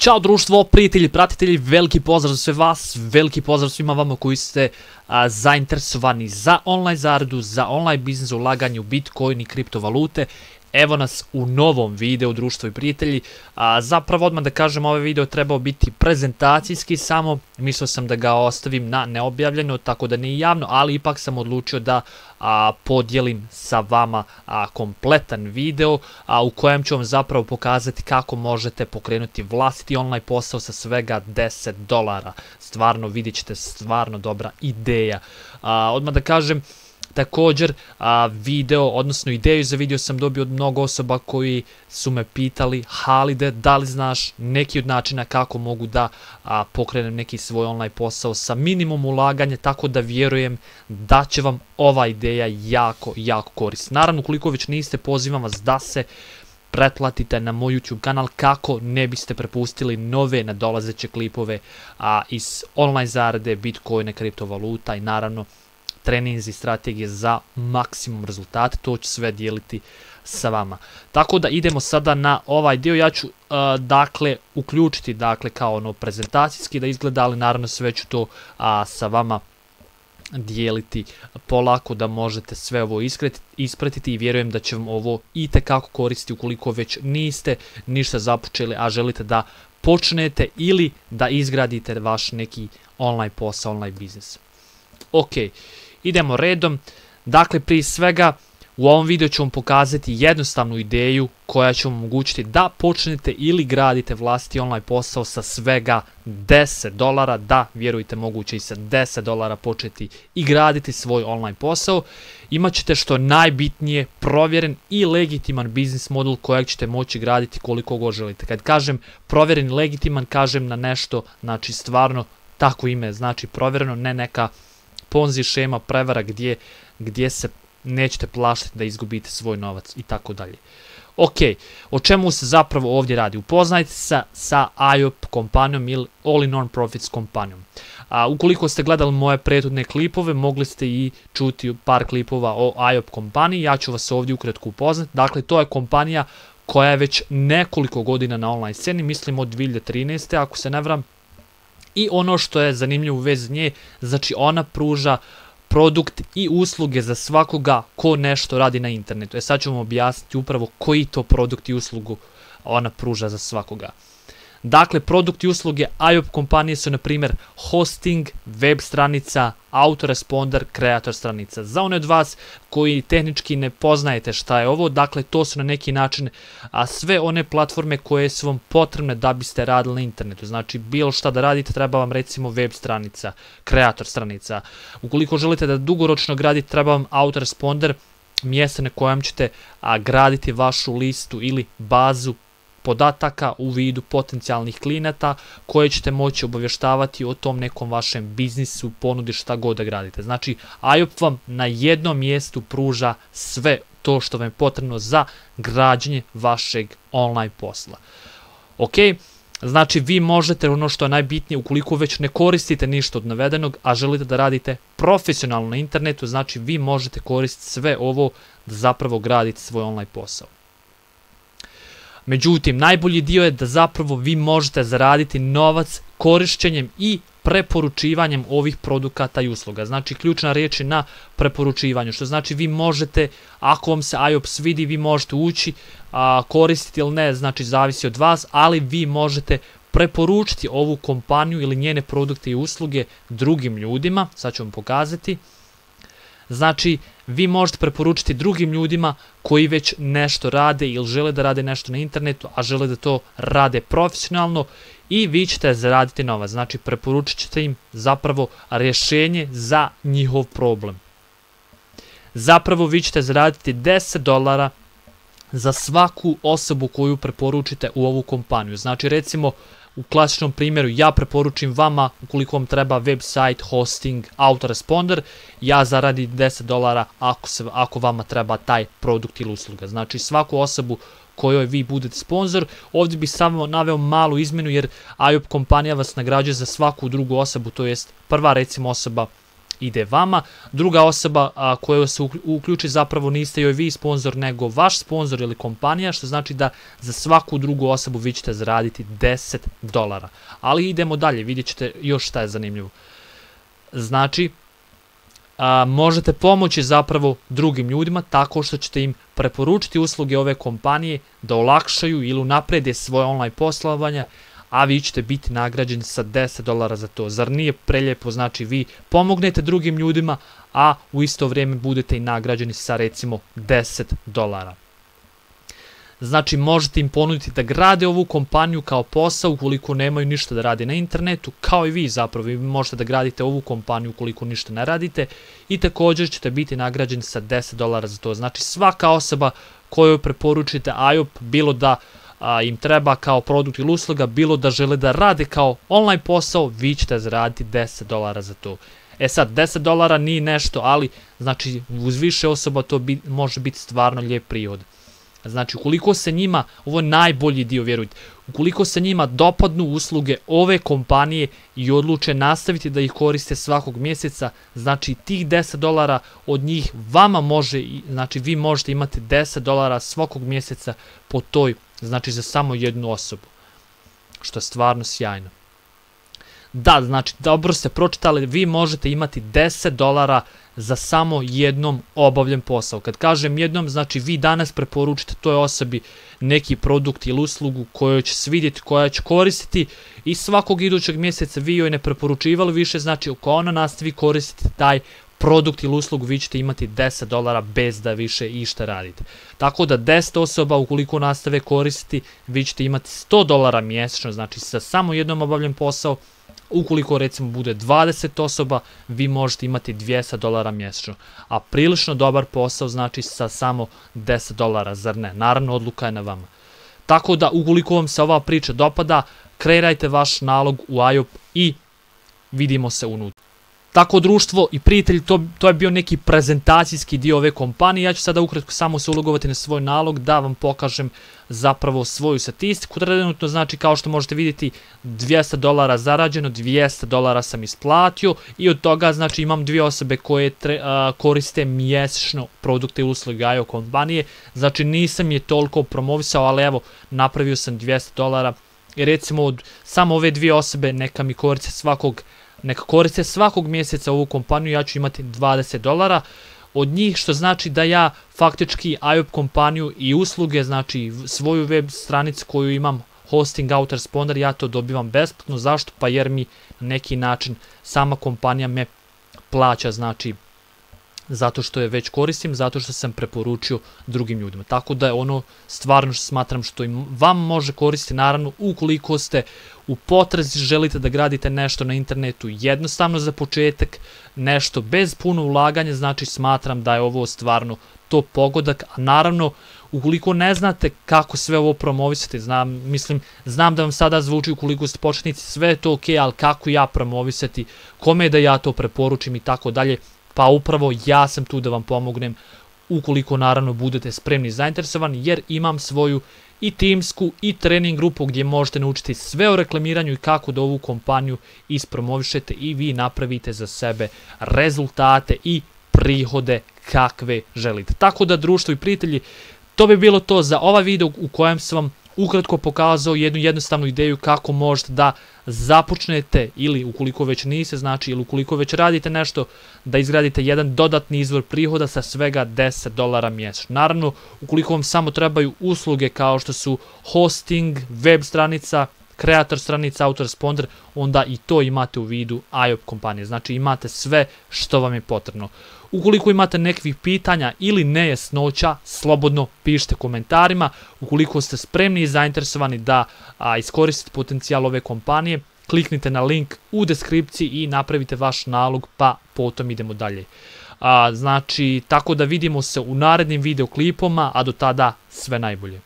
Ćao društvo, prijatelji, pratitelji, veliki pozdrav za sve vas, veliki pozdrav svima vama koji ste zainteresovani za online zaradu, za online biznis, ulaganje u Bitcoin i kriptovalute. Evo nas u novom videu, društvo i prijatelji. Zapravo odmah da kažem, ovaj video trebao biti prezentacijski samo, mislio sam da ga ostavim na neobjavljeno, tako da nije javno, ali ipak sam odlučio da podijelim sa vama kompletan video u kojem ću vam zapravo pokazati kako možete pokrenuti vlastiti online posao sa svega $10. Stvarno vidjet ćete, stvarno dobra ideja. Odmah da kažem, također video, odnosno ideju za video sam dobio od mnogo osoba koji su me pitali: Halide, da li znaš neki od načina kako mogu da pokrenem neki svoj online posao sa minimum ulaganja, tako da vjerujem da će vam ova ideja jako koristiti. Naravno, ukoliko već niste, pozivam vas da se pretplatite na moj YouTube kanal kako ne biste prepustili nove nadolazeće klipove iz online zarade, Bitcoina, kriptovaluta i naravno treninzi i strategije za maksimum rezultate. To ću sve dijeliti sa vama. Tako da idemo sada na ovaj dio. Ja ću dakle uključiti kao ono prezentacijski da izgleda, ali naravno sve ću to sa vama dijeliti polako da možete sve ovo ispratiti i vjerujem da će vam ovo itekako koristiti ukoliko već niste ništa započeli, a želite da počnete ili da izgradite vaš neki online posao, online biznis. Ok, idemo redom. Dakle, prije svega u ovom videu ću vam pokazati jednostavnu ideju koja će vam omogućiti da počnete ili gradite vlastiti online posao sa svega $10. Da, vjerujte, moguće i sa $10 početi i graditi svoj online posao. Imaćete što najbitnije provjeren i legitiman biznis model kojeg ćete moći graditi koliko god želite. Kad kažem provjeren i legitiman, kažem na nešto, znači stvarno tako ime znači provjereno, ne neka ponzi šema, prevara gdje se nećete plašiti da izgubite svoj novac i tako dalje. Ok, o čemu se zapravo ovdje radi? Upoznajte se sa IOP kompanijom ili All in One Profits kompanijom. Ukoliko ste gledali moje prethodne klipove, mogli ste i čuti par klipova o IOP kompaniji. Ja ću vas ovdje ukratko upoznati. Dakle, to je kompanija koja je već nekoliko godina na online sceni, mislim od 2013. ako se ne varam. I ono što je zanimljivo u vezi nje, znači ona pruža produkt i usluge za svakoga ko nešto radi na internetu. Sad ću vam objasniti upravo koji to produkt i uslugu ona pruža za svakoga. Dakle, produkt i usluge IOP kompanije su na primjer hosting, web stranica, autoresponder, kreator stranica. Za one od vas koji tehnički ne poznajete šta je ovo, dakle to su na neki način sve one platforme koje su vam potrebne da biste radili na internetu. Znači bilo šta da radite, treba vam recimo web stranica, kreator stranica. Ukoliko želite da dugoročno gradite, treba vam autoresponder, mjesto na kojem ćete graditi vašu listu ili bazu podataka u vidu potencijalnih klijenata koje ćete moći obavještavati o tom nekom vašem biznisu, ponudi šta god da gradite. Znači, IOP vam na jednom mjestu pruža sve to što vam je potrebno za građenje vašeg online posla. Ok, znači vi možete, ono što je najbitnije, ukoliko već ne koristite ništa od navedenog, a želite da radite profesionalno na internetu, znači vi možete koristiti sve ovo da zapravo gradite svoj online posao. Međutim, najbolji dio je da zapravo vi možete zaraditi novac korišćenjem i preporučivanjem ovih produkata i usluga. Znači, ključna riječ je na preporučivanju, što znači vi možete, ako vam se IOP svidi, vi možete ući, koristiti ili ne, znači zavisi od vas, ali vi možete preporučiti ovu kompaniju ili njene produkte i usluge drugim ljudima. Sad ću vam pokazati. Znači, vi možete preporučiti drugim ljudima koji već nešto rade ili žele da rade nešto na internetu, a žele da to rade profesionalno i vi ćete zaraditi novac. Znači, preporučit ćete im zapravo rješenje za njihov problem. Zapravo, vi ćete zaraditi $10 za svaku osobu koju preporučite u ovu kompaniju. Znači, recimo, u klasičnom primjeru ja preporučim vama, ukoliko vam treba website, hosting, autoresponder, ja zaradim $10 ako vama treba taj produkt ili usluga. Znači svaku osobu kojoj vi budete sponsor, ovdje bih samo naveo malu izmjenu jer IOP kompanija vas nagrađuje za svaku drugu osobu, to jest prva recimo osoba ide vama. Druga osoba koja se uključi zapravo niste joj vi sponsor, nego vaš sponsor ili kompanija, što znači da za svaku drugu osobu vi ćete zaraditi $10. Ali idemo dalje, vidjet ćete još šta je zanimljivo. Znači, možete pomoći zapravo drugim ljudima tako što ćete im preporučiti usluge ove kompanije da olakšaju ili unaprede svoje online poslovanje, a vi ćete biti nagrađeni sa $10 za to. Zar nije preljepo? Znači vi pomognete drugim ljudima, a u isto vrijeme budete i nagrađeni sa recimo $10. Znači možete im ponuditi da grade ovu kompaniju kao posao ukoliko nemaju ništa da rade na internetu, kao i vi zapravo. Vi možete da gradite ovu kompaniju ukoliko ništa ne radite i također ćete biti nagrađeni sa $10 za to. Znači svaka osoba kojoj preporučite IOP, bilo da im treba kao produkt ili usluga, bilo da žele da rade kao online posao, vi ćete zaraditi $10 za to. E sad, $10 nije nešto, ali znači uz više osoba to može biti stvarno lijep prihod. Znači, ukoliko se njima, ovo je najbolji dio, vjerujte, ukoliko se njima dopadnu usluge ove kompanije i odluče nastaviti da ih koriste svakog mjeseca, znači tih $10 od njih vama može, znači vi možete imati $10 svakog mjeseca po toj, znači za samo jednu osobu, što je stvarno sjajno. Da, znači, dobro ste pročitali, vi možete imati $10 za samo jednom obavljen posao. Kad kažem jednom, znači vi danas preporučite toj osobi neki produkt ili uslugu koju će svidjeti, koja će koristiti i svakog idućeg mjeseca vi joj ne preporučivali više, znači ako ona nastavi koristiti taj produkt ili uslugu, vi ćete imati $10 bez da više išta radite. Tako da 10 osoba ukoliko nastave koristiti, vi ćete imati $100 mjesečno, znači sa samo jednom obavljen posao. Ukoliko recimo bude 20 osoba, vi možete imati $200 mjesečno. A prilično dobar posao znači sa samo $10, zar ne? Naravno, odluka je na vama. Tako da, ukoliko vam se ova priča dopada, kreirajte vaš nalog u IOP i vidimo se unutra. Tako, društvo i prijatelji, to je bio neki prezentacijski dio ove kompanije. Ja ću sada ukratko samo se ulogovati na svoj nalog da vam pokažem zapravo svoju statistiku. Trenutno, znači, kao što možete vidjeti, $200 zarađeno, $200 sam isplatio i od toga, znači, imam 2 osobe koje koriste mjesečno produkte i usluge IOP kompanije. Znači, nisam je toliko promovisao, ali evo, napravio sam $200 i recimo od samo ove 2 osobe neka mi koriste svakog mjeseca ovu kompaniju, ja ću imati $20 od njih, što znači da ja faktički IOP kompaniju i usluge, znači svoju web stranicu koju imam, hosting, autoresponder, ja to dobivam besplatno. Zašto? Pa jer mi na neki način sama kompanija me plaća, znači zato što je već koristim, zato što sam preporučio drugim ljudima. Tako da je ono stvarno što smatram što im vam može koristiti, naravno ukoliko ste u potrazi, želite da gradite nešto na internetu jednostavno za početak, nešto bez puno ulaganja, znači smatram da je ovo stvarno to pogodak. A naravno, ukoliko ne znate kako sve ovo promovisati, znam da vam sada zvuči ukoliko ste početnici, sve je to ok, ali kako ja promovisati, kome da ja to preporučim i tako dalje. Pa upravo ja sam tu da vam pomognem ukoliko naravno budete spremni i zainteresovani, jer imam svoju i timsku i trening grupu gdje možete naučiti sve o reklamiranju i kako da ovu kompaniju ispromovišete i vi napravite za sebe rezultate i prihode kakve želite. Tako da, društvo i prijatelji, to bi bilo to za ovaj video u kojem sam vam ukratko pokazao jednu jednostavnu ideju kako možete da započnete, ili ukoliko već niste, znači, ili ukoliko već radite nešto, da izgradite jedan dodatni izvor prihoda sa svega $10 mjesečno. Naravno, ukoliko vam samo trebaju usluge kao što su hosting, web stranica, kreator stranica, autoresponder, onda i to imate u vidu IOP kompanije. Znači imate sve što vam je potrebno. Ukoliko imate nekih pitanja ili nejasnoća, slobodno pišite komentarima. Ukoliko ste spremni i zainteresovani da iskoristite potencijal ove kompanije, kliknite na link u deskripciji i napravite vaš nalog, pa potom idemo dalje. Znači, tako da vidimo se u narednim videoklipoma, a do tada sve najbolje.